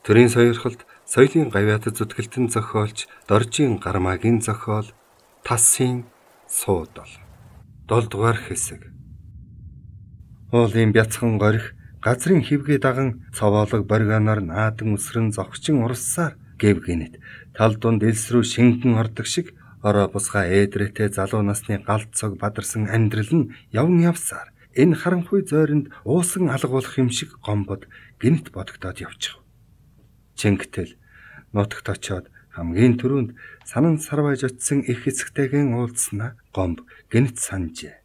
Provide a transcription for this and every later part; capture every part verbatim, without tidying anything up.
Төрийн сойрхолд соёлын гавьяат зүтгэлтэн зохиолч Доржийн Гармаагийн зохиол Тасын суудал. Долдугаар хэсэг. Уулын бяцхан горих газрын хөвгөө даган цовоолог боргоноор наадан үсрэн зогчин уралсаар гэв гинэт тал дунд элс рүү шингэн ордог шиг ороо бусгай ээдрэтэ залуу насны галт цог бадарсан амьдрал нь явн явсаар энэ харанхуй зойронд уусан алгуулах юм шиг гомбод гинт бодогдоод явчих. Чингтэл нутагт очиод хамгийн түрүүнд санан сарвайж очисон их эцэгтэйгэн уулзснаа гомб гинт санджээ.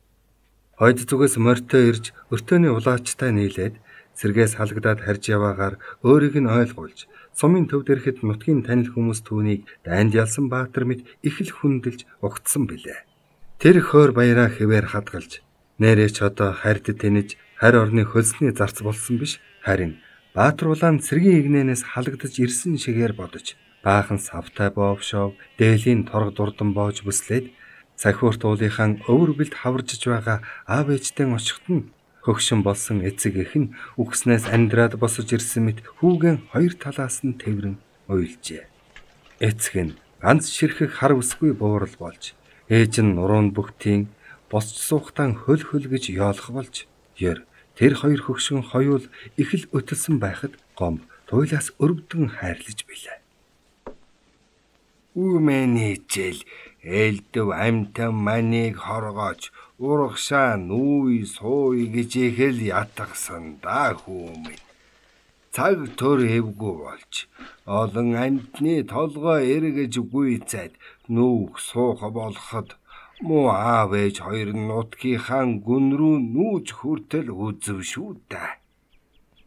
Хойд зүгээс морьтой ирж өртөөний улаачтай нийлээд сэргээс халагдаад харж яваагаар өөрийг нь ойлгуулж сумын төвд ирэхэд нутгийн танил хүмүүс түүнийг дайнд ялсан баатар мэд их л хүндэлж угтсан билээ. Тэр хойр баяраа хэвээр хадгалж нэрээ ч одоо харьд тэнэж харь орны хөлсний зарц болсон биш, харин баатар улаан цэргийн игнэнээс халагдаж ирсэн шигээр бодож баахан савтай боовшоо дээлийн торг дурдан боож бүслээд цахиурт уулынхан өвөр бэлд хаваржж байгаа аав ээжтэй очихт нь хөгшин болсон эцэг эх нь үхснээс амьдраад босож ирсэн мэт хүүгэн хоёр талаас нь тэврэн уйлжээ. Эцэг нь ганц ширхэх хар үсгүй буурал болж ээж нь нуруунд бүгтийн босч суухтан хөл хөл гэж яолох болж ер тэр хоёр хөгшин хоёул их л өтөлсөн байхад гомб туйлаас өргөдөн хайрлаж билээ. Үмэнийчэл элдв амтан манийг хоргооч урагшаа нүүй сууй гэж ихэл ятгсан да хүмүн. Цаг төр хэвгүй болж олон амтны толгой эргэж гүйцээд нүүх суух болоход муу аав ээж хоёр нутгийнхаа гүн рүү нүүж хүртэл үзв шүү дээ.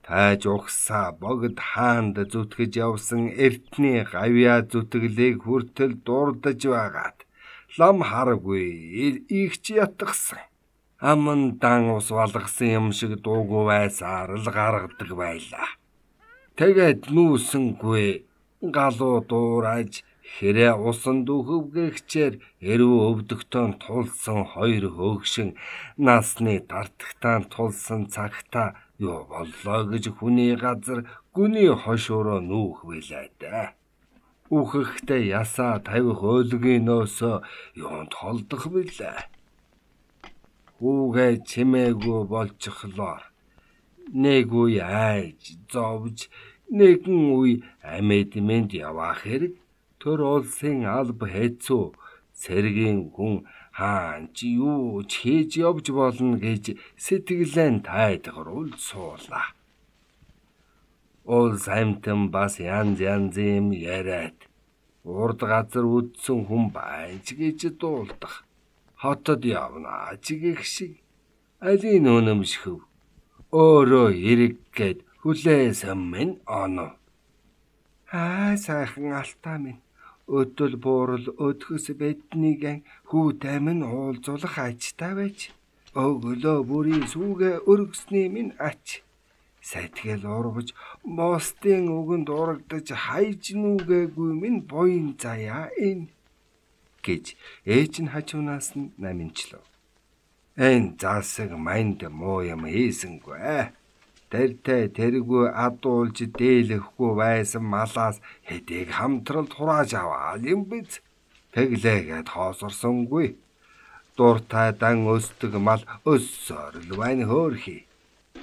Тайж ухсаа богд хаанд зүтгэж явсан эртний гавьяа зүтгэлийг хүртэл дурдж байгаад лам харгүй игч ятгсан. Аман дан ус валгасан юм шиг дуугүй байсаар л гаргадаг байлаа. Тэгээд нүүсэнгүй галуу дуурайж хэрэ усан дүүхвгэгчээр эрүү өвдөгтөн тулсан хоёр хөөгшин насны тартагтаан тулсан цагта юу боллоо гэж хүний газар гүний хошууроо нүүх билээ дээ. Үхэхдээ ясаа тавих өөлгийн нөөсөө юунд холдох билээ. Хүүгээ чимээгүй болчихлоор нэг үе айж зовж нэгэн үе амьд явах хэрэг төр улсын алба хэцүү цэргийн хүн хаан чи юу ч хийж явж болно гэж сэтгэлэн тайдгаруул суулаа. Улс амтан бас янз янзын яриад урд газар үдсэн хүн байж гэж дуулдах. Хотод явна чигэх шиг алийн өнөмшхөв өөрөө эрэг гээд хүлээсэн минь оноо. Аа сайхан алтаа минь өдөл буурал өдгөс бэднийг хүүтэй минь уулзуулах ачтай байж өглөө бүрийн сүгэ өргөсний минь ач. Сэтгэл урвж мостын үгэнд урагдаж хайж нүгээгүй минь буян заяа энэ гэж ээж нь хажуунаас нь наминчлав. Энэ засаг манд муу юм хийсэнгүй. Тэртээ тэргүй адуулж дээлэхгүй байсан малаас хэдийг хамтралд хурааж аваа юм биз. Тэглээгээд хоосорсонгүй. Дуртай дан өсдөг мал өссөөр л байна хөөрхий.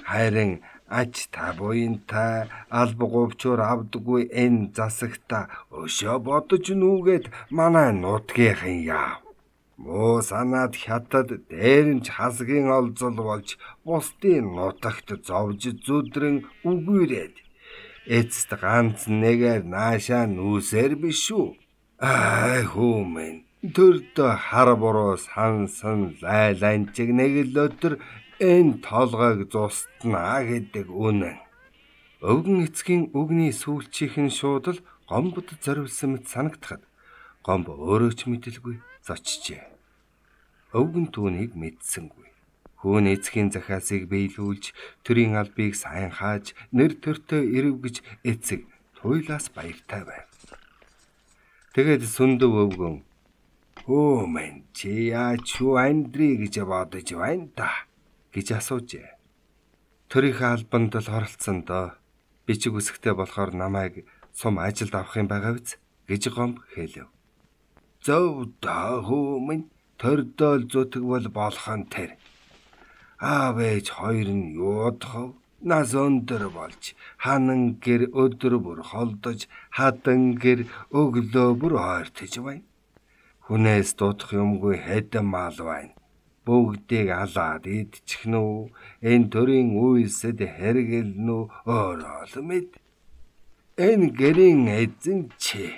Харин ач та буянтай алба говчоор авдаггүй энэ засагта өшөө бодож нүгээд манай нутгийнхан яав. Муу санаад хятад дээрэмч хасгийн олзол болж бусдын нутагт зовж зүдрэн үгүйрээд эцэст ганц нэгээр наашаа нүүсээр биш үү. Аа хүмүн төрдө хар буруу сансан лайланчиг нэг л өдөр энэ толгойг зустнаа гэдэг үнэн. Өвгөн эцгийн үгний сүүлчийнхэн шууд л гомбод зориулсан мэт санагдахад гомб өөрөө ч мэдэлгүй зочжээ. Өвгөн түүнийг мэдсэнгүй. Хүүн эцгийн захаасыг биелүүлж төрийн албыг сайн хааж нэр төртөө ирвгэж эцэг туйлаас баяртай байв. Тэгээд сүндэв өвгөн "Хөө мэн чи яач юу андрий гэж бодож байна та?" гэж асуужээ. Төрийн албанд л оролцсон доо. Бичиг үсгтэй болохоор намайг сум ажилд авах юм байгаа биз гэж Гомб хэлв. Зөв доо хүү минь төрдөөл зүтг бол болох нь тэр. Аав ээж хоёр нь юудах нас өндөр болж ханан гэр өдөр бүр холдож хадан гэр өглөө бүр ойртож байна. Хүнээс дутах юмгүй хэдэн мал байна. Бүгдийг алаад идчихнэ үү? Энэ төрийн үйлсэд хэрэгэлнэ үү? Өөрөө л мэд. Энэ гэрийн эзэн чи.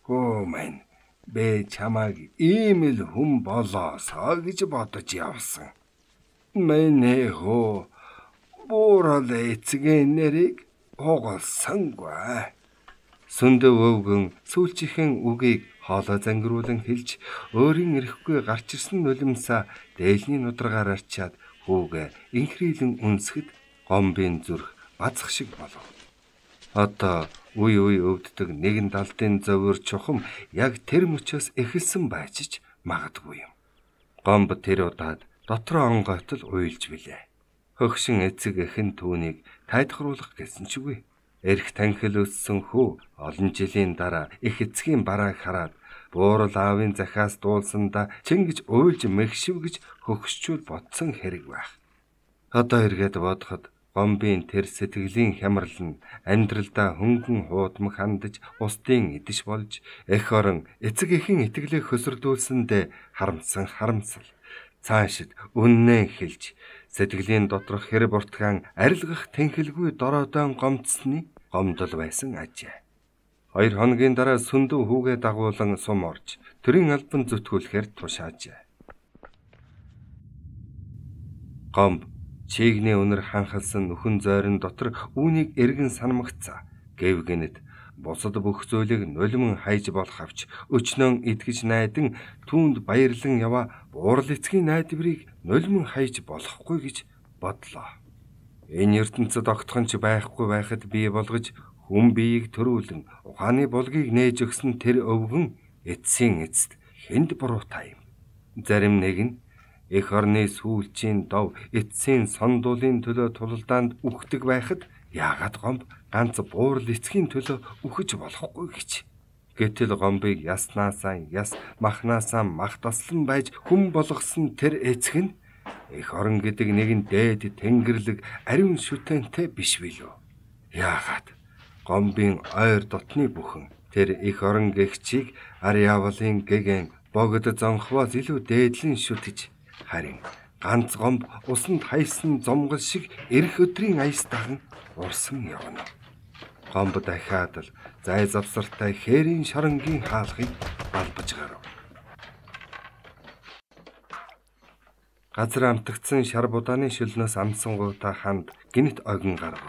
Хөө мэн бэ чамайг ийм л хүн болоосоо гэж бодож явсан. Мэнэ хөө буурал эцгийн нэрийг хугалсангүй. Сүндэв өвгөн сүүлчийнхэн үгийг хоолой зангируулан хэлж өөрийн эрэхгүй гарч ирсэн нулимсаа дээлний нударгаар арчаад хүүгээ инхрийлэн үнсгэд Гомбын зүрх бацх шиг болов. Одоо үе үе өвддөг нэгэн далдын зовөр чухам яг тэр мөчөөс эхэлсэн байж ч магадгүй юм. Гомб тэр удаад дотроо онгойтол уйлж билээ. Хөгшин эцэг эхэн түүнийг тайдхруулах гэсэн чгүй. Эрх танхил өссөн хүү олон жилийн дараа их эцгийн барааг хараад буурал аавын захиас дуулсандаа чингэж уйлж мэгшивгэж хөгшчүүл бодсон хэрэг байх. Одоо эргээд бодоход Гомбын тэр сэтгэлийн хямрал нь амьдралдаа хөнгөн хуудмаг хандаж устдын идэж болж эх орон эцэг эхэн итгэлээ хөсөрдүүлсэндээ харамсан харамсал. Цаашид үннээ хэлж сэтгэлийн доторх хэр буртгаан арилгах тэнхэлгүй дороодон гомдсны гомдол байсан ажээ. Хоёр хоногийн дараа сүндэв хүүгээ дагуулan сум орж төрийн албан зүтгүүлэхээр тушаажээ. Гомб чигний өнөр ханхалсан нүхэн зойрон дотор үүнийг эргэн санамгцаа. Гэвгэнэт бусад бүх зүйлийг нулимн хайж болох авч өчнөн итгэж найдан түүнд баярлан яваа буурал эцгийн найдварыг нулимн хайж болохгүй гэж бодлоо. Энэ ертөнцид огтхон ч байхгүй байхад бий болгож хүн биеийг төрүүлэн ухааны булгийг нээж өгсөн тэр өвгөн эцсийн эцэд хэнд буруутай юм. Зарим нэг нь эх орны сүүлчийн дов эцсийн сондуулын төлөө тулалдаанд үхдэг байхад яагаад Гомб ганц буурал эцгийн төлөө үхэж болохгүй гэж. Гэтэл Гомбыг яснаасаа яс махнаасаа мах таслан байж хүн болгосон тэр эцэг нь эх орон гэдэг нэгэн дээд тэнгэрлэг ариун шүтэнтэй биш билүү? Яагаад Гомбын ойр дотны бүхэн тэр эх орон гэгчийг ар явлын гэгэн богд зонхвоос илүү дээдлэн шүтэж харин ганц Гомб усанд хайсан зомгол шиг эрх өдрийн аяс даган урсан явна. Гомб дахиад л зай завсартай хээрийн шоронгийн хаалхыг балбаж гарав. Газар амтгцсан шар будааны шөлнөөс амсангуудаа ханд гинт огин гарав.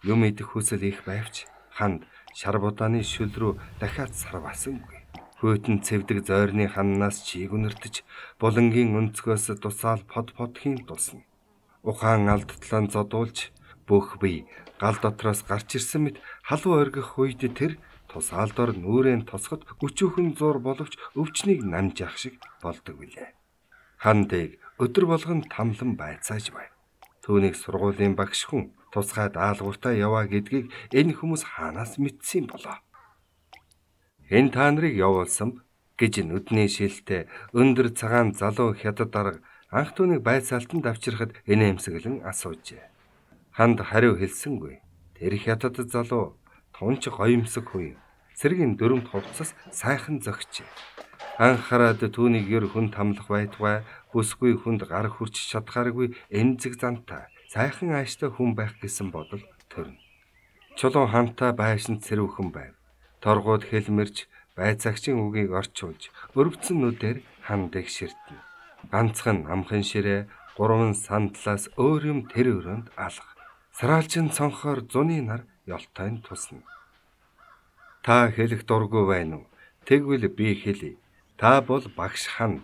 Юм идэх хүсэл их байвч ханд шар будааны шөл рүү дахиад сарваасангүй. Хөөтөн цэвдэг зойрны ханнаас чийг үнэртэж булангийн өнцгөөс тусаал под подхийн тусна. Ухаан алдтлан зодуулж бүх бие гал дотроос гарч ирсэн мэт халуу оргих үед тэр тусаалдор нүрэн тосгод өчүүхэн зур боловч өвчнийг намж явах шиг болдог билээ. Хандыг өдөр болгон тамлан байцааж байв. Түүнийг сургуулийн багш хүн тусгай даалгавартаа яваа гэдгийг энэ хүмүүс хаанаас мэдсэн болоо. Энэ та нарыг явуулсан гэж нүдний шилтэй өндөр цагаан залуу хятад дарга анх түүнийг байцаалтанд авчирхад инээмсэглэн асуужээ. Ханд хариу хэлсэнгүй. Тэр хятад залуу тунч гоёмсог хуй. Цэргийн дөрөмт хувцас сайхан зөгчээ. Анхаарад түүнийг ер хүн тамлах байтугай бүсгүй хүнд гар хүрч чадхааргүй эмзэг зантай сайхан ааштай хүн байх гэсэн бодол төрнө. Чулуун хамтаа байшин цэрүүхэн байв. Торгууд хэлмэрж байцаагчийн үгийг орчуулж өрөвдсөн нүдээр хандыг ширтнэ. Ганцхан амхан ширээ гурван сандлаас өөр юм тэр өрөөнд алга. Сараалчин цонхоор зуны нар ёлтойн тусна. Та хэлэх дургүй байна уу? Тэгвэл би хэлье. Та бол багш Ханд.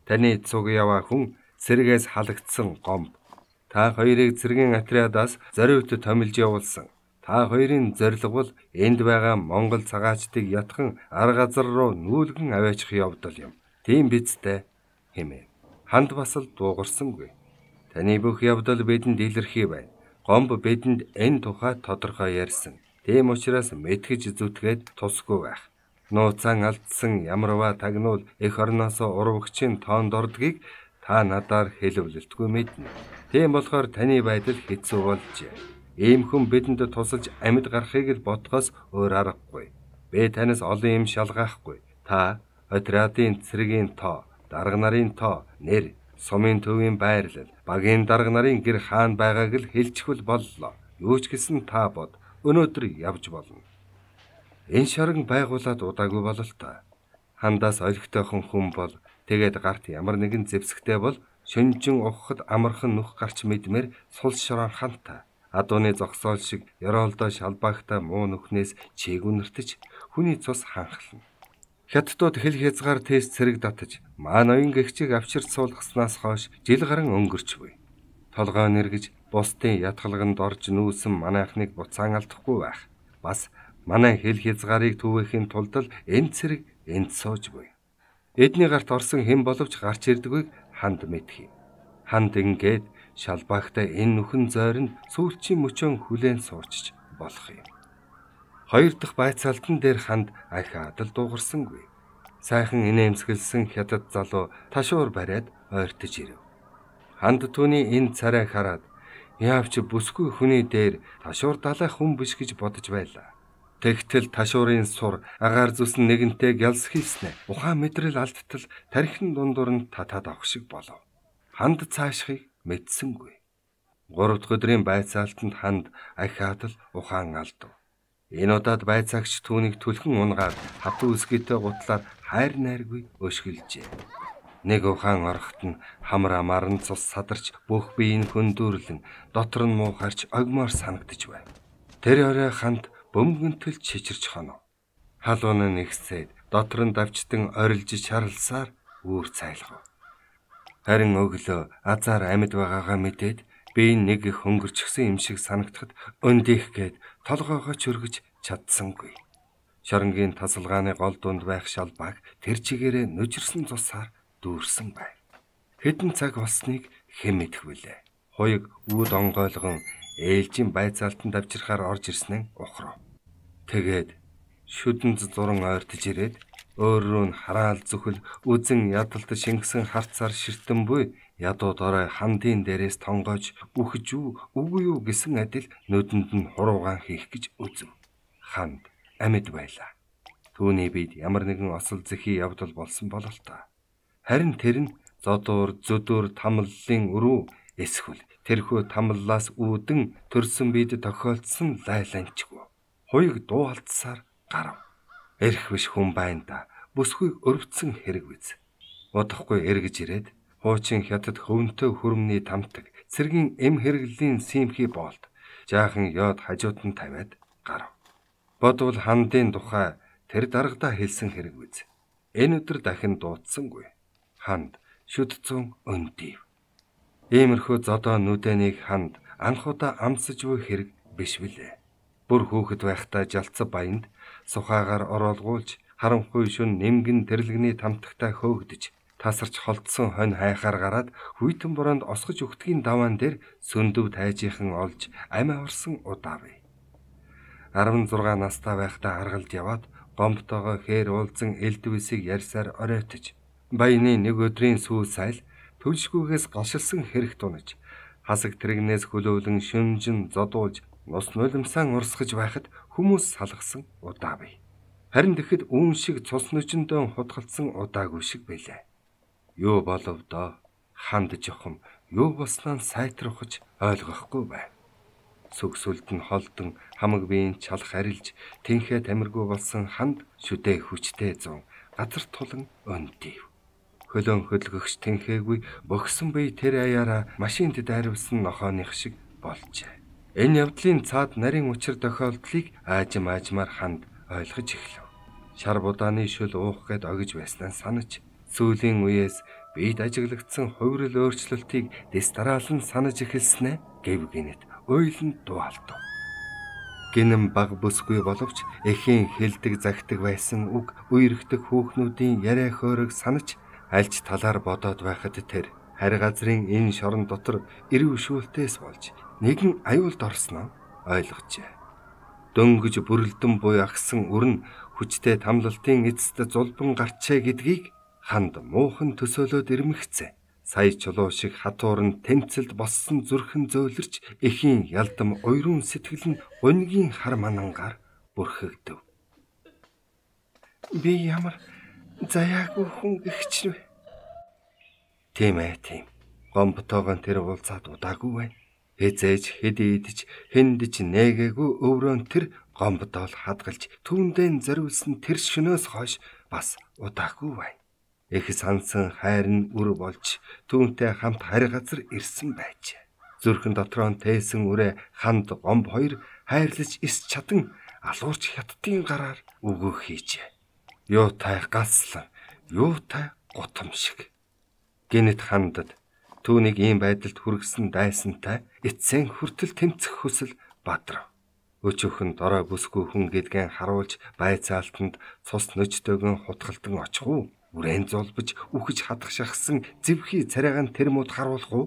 Таны цуг яваа хүн цэргээс халагдсан Гомб. Та хоёрыг цэргийн отрядаас зориуд томилж явуулсан. Та хоёрын зорилго бол энд байгаа Монгол цагаачдыг ятхан арга газар руу нүүлгэн аваачих явдал юм. Тийм биз дээ хэмээн. Ханд бас л дуугарсангүй. Таны бүх явдал бидэнд илэрхий байна. Гомб бидэнд энэ тухай тодорхой ярьсан. Тийм учраас мэтгэж зүтгээд тусгүй байх. Нууцан алдсан ямарваа тагнуул эх орноосоо урвагчийн тоонд ордгийг та надаар хэлвэлтгүй мэднэ. Тийм болохоор таны байдал хэцүү болжээ. Ийм хүн бидэнд тусалж амьд гарахыг л бодхоос өөр аргагүй. Би танаас олон юм шалгаахгүй. Та отрядын цэрэгийн тоо, дарга нарын тоо, нэр, сумын төвийн байрлал, багийн дарга нарын гэр хаан байгааг л хэлчихвэл боллоо. Юу ч гэсэн та бод. Өнөөдөр явж болно. Энэ шорон байгуулад удаагүй бололтой. Хандаас олигтойхон хүн бол тэгээд гарт ямар нэгэн зэвсэгтэй бол шөнжин ухахад амархан нүх гарч мэдмээр сул шорон ханта. Адууны зогсоол шиг ёроолдоо шалбаагтай муу нүхнээс чээгүнэртэж хүний цус ханхлана. Хятадууд хэл хязгаар тест цэрэг татаж маа ноён гэгчийг авчирч суулгаснаас хойш жил гарan өнгөрч буй. Толгой нэргэж бусдын ятгалганд орж нүүсэн манайхныг буцаан алдахгүй байх. Бас манай хэл хязгаарыг түвэхийн тулд л энэ цэрэг энд сууж буй. Эдний гарт орсон хэн боловч гарч ирдэггүйг ханд мэдхий. Ханд ингээд шалбаагтай энэ нүхэн зойронд сүүлчийн мөчөн хүлээн суурчж болох юм. Хоёр дахь байцаалтан дээр ханд ахиадал дуугарсангүй. Сайхан инээмсэглсэн хятад залуу ташуур бариад ойртож ирэв. Ханд түүний энэ царайг хараад яавч бүсгүй хүний дээр ташуур далайх хүн биш гэж бодож байлаа. Тэгтэл ташуурын сур агаар зүсэн нэгэнтэй гялс хийснэ. Ухаан мэдрэл алдтал тархин дундуур нь татаад авах шиг болов. Ханд цаашхыг мэдсэнгүй. Гурав дахь өдрийн байцаалтанд ханд ахиадал ухаан алдав. Энэ удаад байцаагч түүнийг түлхэн унгаад хатуу үсгийтэй гутлаар хайр найргүй өшгөлжээ. Нэг ухаан орохт нь хамар амарн цус садарч бүх биеийн хөндөөрлөн дотор нь муухарч огмоор санагдж байв. Тэр орой ханд бөмбөгөнтөл чичирч хонов. Халуун нь нэгсээд дотор нь давчтан орилж шарлсаар үүр цайлгав. Харин өглөө азар амьд байгаагаа мэдээд би нэг их хөнгөрчихсөн юм шиг санагдахад өндих гээд толгоогоо чөргөж чадсангүй. Шоронгийн тасалгааны гол дунд байх шалбааг тэр чигээрээ нүжирсэн цусаар дүүрсэн байв. Хэдэн цаг болсныг хэн мэдэх вүлээ. Хуйг үүд онгойлгон ээлжийн байцаалтанд авчирхаар орж ирсэн нь ухрав. Тэгээд шүдэнд зуран ойртож ирээд өөр рүү нь хараал зүхэл үзэн ядалт шингэсэн харцаар ширтэн буй ядууд орой хандын дээрээс тонгоож үхэж үү үгүй юу гэсэн адил нүдэнд нь хуруугаан хийх гэж үзв. Ханд амьд байлаа. Түүний бид ямар нэгэн осол зэхий явдал болсон бололтой. Харин тэр нь зодуур зүдүр тамллын өрөө эсвэл тэрхүү тамллаас үүдэн төрсөн бид тохиолдсон лайланчгүй. Хуйг дуу алдсаар гарав. Эрх биш хүн байна да. Бүсгүйг өрөвдсөн хэрэг биз. Удахгүй эргэж ирээд хуучин хятад хөвөнтөө хүрмний тамтаг цэргийн эм хэрэглийн симхи боолт жаахан ёд хажууд нь тавиад гарав. Бодвол хандын тухай тэр даргадаа хэлсэн хэрэг биз. Энэ өдөр дахин дуудсангүй. Ханд шүдцэн өндив. Иймэрхүү зодоо нүдэнийг ханд анхудаа амсаж буй хэрэг биш билээ. Бүр хүүхэд байхдаа жалцав баянд сухаагаар ороолгуулж харанхуй шүн нэмгэн тэрлэгний тамтагтай хөөгдөж тасарч холдсон хонь хайхаар гараад хүйтэн бороонд осгож өгтгийн даваан дээр сөндөв тайжийнхан олж амь аварсан удаа бай. арван зургаан настай байхдаа аргалж яваад гомбтойгоо хээр уулзан элдвэсийг ярьсаар оройтож баяны нэг өдрийн сүү сайл төлшгүйгээс гашилсан хэрэг тунаж хасаг тэрэгнээс хөлөөлөн шүнжин зодуулж нус нулимсаан урсгаж байхад хүмүүс салгасан удаа бай. Харин тэгэхэд үүн шиг цус нүчөндөө хутгалсан удаагүй шиг байлаа. Юу болов доо? Ханд жохом юу болсноо сайтрахж ойлгохгүй байв. Сүгсүлд нь холдон хамаг биеийн чалх арилж тэнхээ тамиргүй болсон ханд шүдэ хүчтэй зун газар тулан өндив. Хөлөөн хөдөлгөгч тэнхээгүй богсон бие тэр аяараа машинд дайрвсан нохооных шиг болжээ. Энэ явдлын цаад нарийн учир тохиолдлыг аажим аажмаар ханд ойлгож эхлэв. Шар будааны шөл уух гээд огж байснаа санаж сүүлийн үеэс бид ажиглагдсан хувирал өөрчлөлтийг дэс дараалан санаж эхэлснэ гэв гинэт ойлонд дуалтав. Гинэн баг бүсгүй боловч эхийн хэлдэг загтаг байсан үг үерхдэг хүүхнүүдийн яриа хөөрөг санаж альж талаар бодоод байхад тэр харь газрын энэ шорон дотор ирэв шүүлтээс болж нэгэн аюулд орсноо ойлгожээ. Дөнгөж бүрэлдэн буй агсан өрн хүчтэй тамлалтын эцэст зулбан гарчээ гэдгийг ханд муухан төсөөлөд ирмэгцээ. Сая чулуу шиг хатуурн тэмцэлд боссон зүрхэн зөөлрч эхийн ялдам уйрын сэтгэл нь гунгийн хар манангаар бүрхэгдэв. Би ямар заяагүй хүн гихч вэ? Тийм ээ тийм. Гомбтойгоо тэр уулзаад удаагүй байна. Эзэж хэд идэж хэндэж нээгээгүй өврөөн тэр гомбдол хадгалж түүндээ зориулсан тэр шөнөөс хойш бас удаагүй байна. Их сансан хайр нь үр болж түүнтэй хамт харь газар ирсэн байж. Зүрхэн дотроо тээсэн үрэ ханд гомб хоёр хайрлаж ис чадан алуурч хятадын гараар өгөө хийжээ. Юутай гаслан, юутай гутам шиг. Гинэт хандад түүнийг ийм байдалд хүргэсэн дайсантай эцсийн хүртэл тэмцэх хүсэл бадрав. Өчөөхөн дорой бүсгүй хүн гэдгэн харуулж байцаалтанд цус нөчтөөгөн хутгалдан очих уу? Үрэн зулбж үхэж хадах шахсан зэвхий царайгаан тэрмүүд харуулах уу?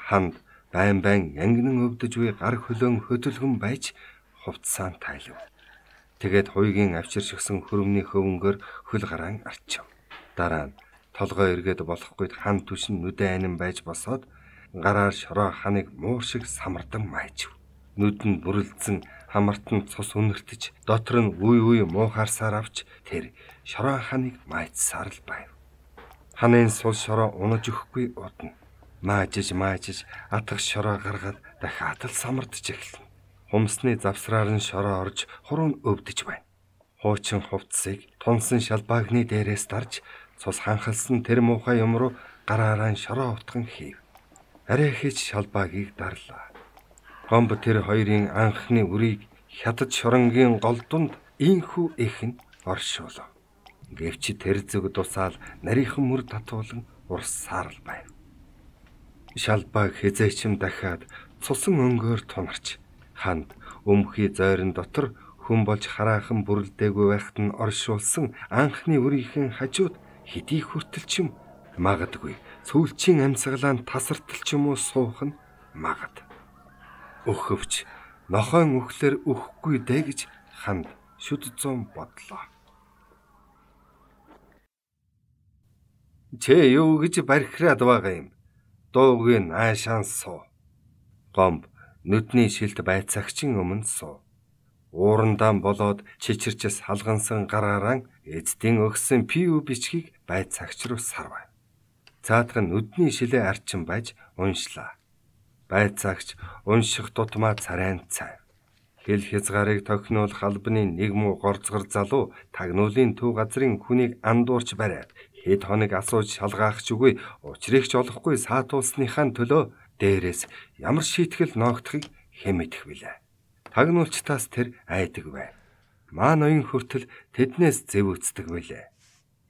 Ханд байн байн янгинан өвдөж буй гар хөлөөн хөдөлгөн байж хувцсаан тайлв. Тэгээд хуйгийн авчир шигсэн хөрөмний хөвөнгөөр хөл гараан арчив. Дараа нь толгой эргээд болохгүйд хан түшин нүдэн анин байж босоод гараар шороо ханыг муур шиг самардан майжив. Нүд нь бүрэлдсэн хамартан цус үнэртэж дотор нь үе үе муухаарсаар авч тэр шороо ханыг майцсаар л байв. Ханын сул шороо унаж өгөхгүй удна. Маажиж маажиж атгах шороо гаргаад дахиад л самардж эхэлнэ. Хумсны завсраар нь шороо орж хуруунд өвдөж байна. Хуучин хувцсыг тунсан шалбаагны дээрээс дарж цус ханхалсан тэр муухай юм руу гараараа шороо утган хийв. Арай хийж шалбаагийг дарлаа. Гомб тэр хоёрын анхны үрийг хятад шоронгийн голдонд ийхүү ихэн оршуулв. Гэвч тэр зүг дусаал нарийнхан мөр татуулан урсаар л байв. Шалбааг хизээчм дахиад цусан өнгөөр тунарч ханд өмхий зойрон дотор хүн болж хараахан бүрэлдээгүй байхад нь оршуулсан анхны үрийнхэн хажууд хэдий хүртэл ч юм магадгүй сүүлчийн амьсгалаанд тасартал ч юм уу суух нь магад. Өхөвч нохойн өхлөр өхгүй дээ гэж ханд шүд зүүн бодлоо. Чэ юу гэж бархираад байгаа юм? Дуугүй наашаан суу. Гомб нүдний шилт байцаагчийн өмнө суу. Уурандаа болоод чичирчс халгансан гараараа эцдийн өгсөн пиу бичгийг байцаагч руу сарвав. Цаатах нь нүдний шилээ арчин байж уншлаа. Байцаагч унших тутмаа царайн цайв. Хэл хязгаарыг тохинуулах албаны нэг муу горцгор залуу тагнуулын төв газрын хүнийг андуурч бариад хэд хоног асууж шалгаах ч үгүй учрыг ч олохгүй саатуулсныхаа төлөө дээрээс ямар шийтгэл ноогдохыг хэн мэдэх вүлээ. Тагнуулчтаас тэр айдаг байв. Маа ноён хүртэл тэднээс зэв үцдэг вүлээ.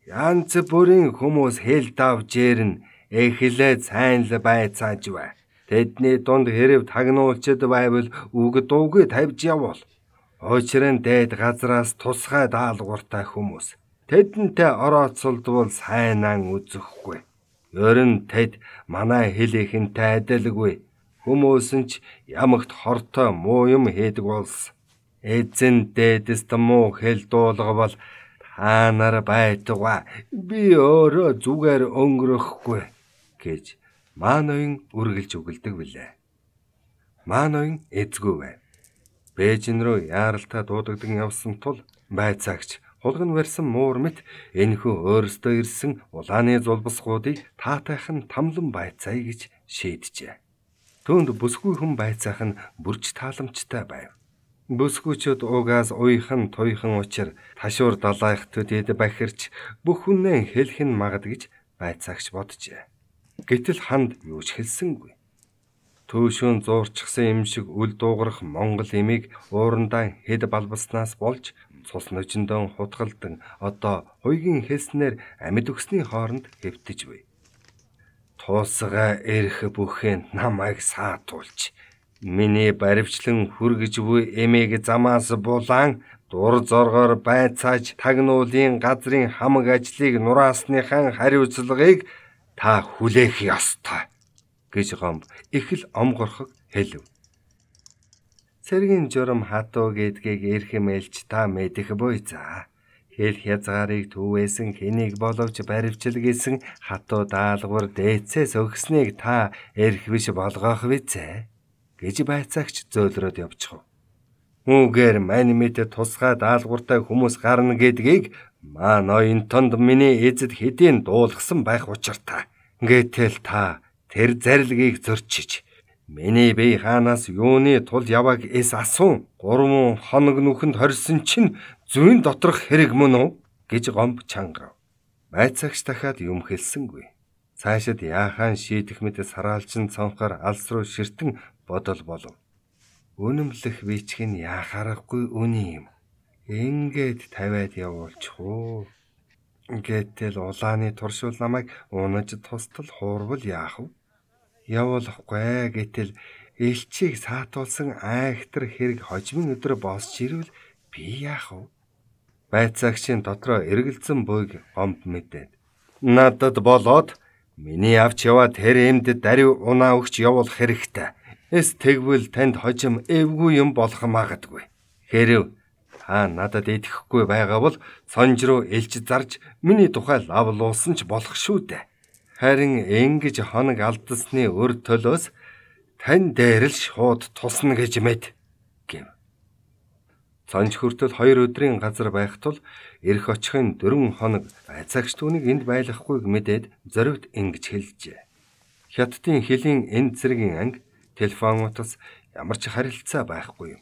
Янз бүрийн хүмүүс хэл давж ирнэ эхлээ сайн л байцааж бай. Тэдний дунд хэрэг тагнуулчд байвал үг дуугүй тавьж явуул. Учир нь дээд газраас тусгай даалгавартай хүмүүс. Тэдэнтэй орооцолдвол сайнан үзэхгүй. Ер нь тэд манай хэл ихэнтэй адилгүй. Хүмүүс нь ч ямагт хортой муу юм хийдэг болсон. Эзэн дээдэст муу хэл дуулгавал та нар байтугай би өөрөө зүгээр өнгөрөхгүй гэж маа ноён үргэлж үгэлдэг билээ. Маа ноён эзгүй байв. Бээжин рүү яаралтай дуудагдсан явсан тул байцаагч хулган барьсан муур мэт энэхүү өөрөөсөө ирсэн улааны зулбасгуудыг таатайхан тамлан байцаая гэж шийджээ. Түүнд бүсгүй хүн байцаах нь бүрч тааламжтай байв. Бүсгүйчүүд угаас уйхан туйхан учир ташуур далайх төдөд бахирч бүх хүнээ хэлэх нь магад гэж байцаагч боджээ. Гэтэл ханд юу ч хэлсэнгүй. Төөшөн зуурчсан юм шиг үл дуугарах монгол эмийг уурандаа хэд балбаснаас болж цус нөчөндөө хутгалдан одоо хуйгийн хэлснээр амьд өгсний хооронд хэвтэж буй. Туусгаа эрх бүхэн намайг саатуулж миний баривчлан хүргэж буй эмийг замаас булаан дур зоргоор байцааж тагнуулын газрын хамаг ажлыг нураасныхан хариуцлагыг та хүлээх ёстой гэж гомб их л омгорхог хэлв. Цэргийн журам хатуу гэдгийг эрхэмэлж та мэдэх буй за. Хэл хязгаарыг түүвэсэн хэнийг боловч баривчилгээсэн хатуу даалгавар дээцээс өгснийг та эрх биш болгох визээ гэж байцаагч зөөлрөөд явчихв. Үүгээр мань мэд тусгай даалгавартай хүмүүс гарна гэдгийг маань оюун тонд миний эзэд хэдийн дуулгасан байх учиртай. Гэтэл та тэр зарилгийг зөрчиж миний бие хаанаас юуны тул яваг эс асуун гурван хоног нүхэнд хорьсон чинь зүйн доторх хэрэг мөн үү гэж гомб чангав. Байцаагч дахиад юм хэлсэнгүй. Цаашид яахаан шийдэх мэт сараалчин цонхоор алс руу ширтэн бодол болов. Үнэмлэх бичих нь яхаарахгүй үний юм. Ингээд тавиад явуулчих уу. Гэтэл улааны туршил намайг унаж тустал хуурвал яах вэ? Явуулахгүй гэтэл элчийг саатуулсан айхтар хэрэг хожимын өдрө босч ирвэл би яах вэ? Байцаагчийн дотроо эргэлзэн буйг гомб мэдээд надад болоод миний авч яваа тэр эмд дарив унаа өгч явуулах хэрэгтэй. Эс тэгвэл танд хожим эвгүй юм болох магадгүй. Хэрв та надад итгэхгүй байгаа бол сонж руу элч зарж миний тухай лавлуулсан ч болох шүү дээ. Харин ингэж хоног алдсны өр төлөөс тань дээр л шууд тусна гэж мэд гэв. Цонж хүртэл хоёр өдрийн газар байх тул эрх очихын дөрвөн хоног байцаагч түүнийг энд байлгахгүйг мэдээд зоригт ингэж хэлжээ. Хятадын хөлийн энэ зэргийн анги телефон утас ямар ч харилцаа байхгүй юм.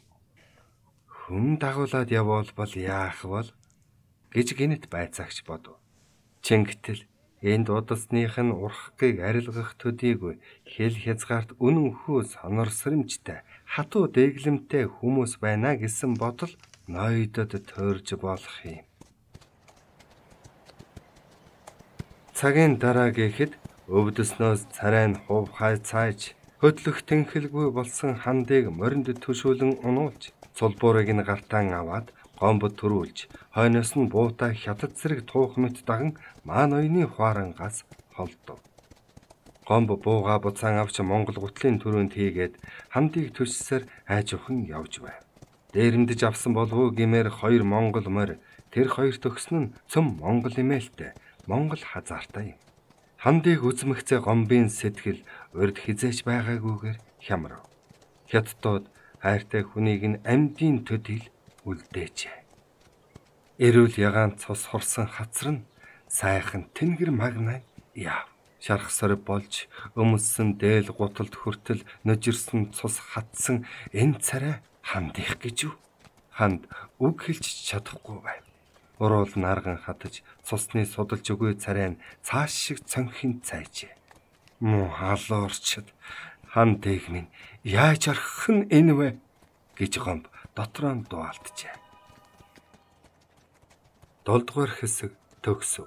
Хүн дагуулад явуулбал яах бол гэж гинэт байцаагч бодов. Чингэтэл энд удасных нь урхахыг арилгах төдийгүй хэл хязгаарт үнэн хүү сонорсоримжтай хатуу дэглэмтэй хүмүүс байна гэсэн бодол ноёдод төрж болох юм. Цагийн дараа гэхэд өвдөснөөс царай нь хувхай цааж хөдлөх тэнхэлгүй болсон хандыг моринд төшөөлөн унуулж цулбуурыг нь гартаан аваад гомбод төрүүлж хойноос нь буутай хятад зэрэг туух мэт даган маан оюуны хуарангаас холдов. Гомб бууга буцаан авч Монгол гутлын төрөнд хийгээд хандыг төссөөр айжуухан явж байв. Дээрэмдэж авсан болов уу гэмээр хоёр монгол морь тэр хоёр төгсөн нь цөм монгол имээлтэй монгол хазаартай юм. Хандыг үзмэгцээ гомбын сэтгэл урд хизээч байгаагүйгээр хямрав. Хятадууд хайртай хүнийг нь амьдын төдийл үлдээжээ. Эрүүл ягаан цус хорсон хацар нь сайхан тэнгэр магнай яав. Шарх сорив болж өмссөн дээл гуталд хүртэл нөжирсэн цус хатсан энэ царай хандих гэж юу? Ханд үг хэлж чадахгүй байв. Уруул нарган хатаж цусны судалж өгөө царай нь цааш шиг цонхин цайжээ. Муу халуурчд хан дэг минь яаж арах нь энэ вэ гэж гомб дотроо дуалджээ. Долдугаар хэсэг төгсөв.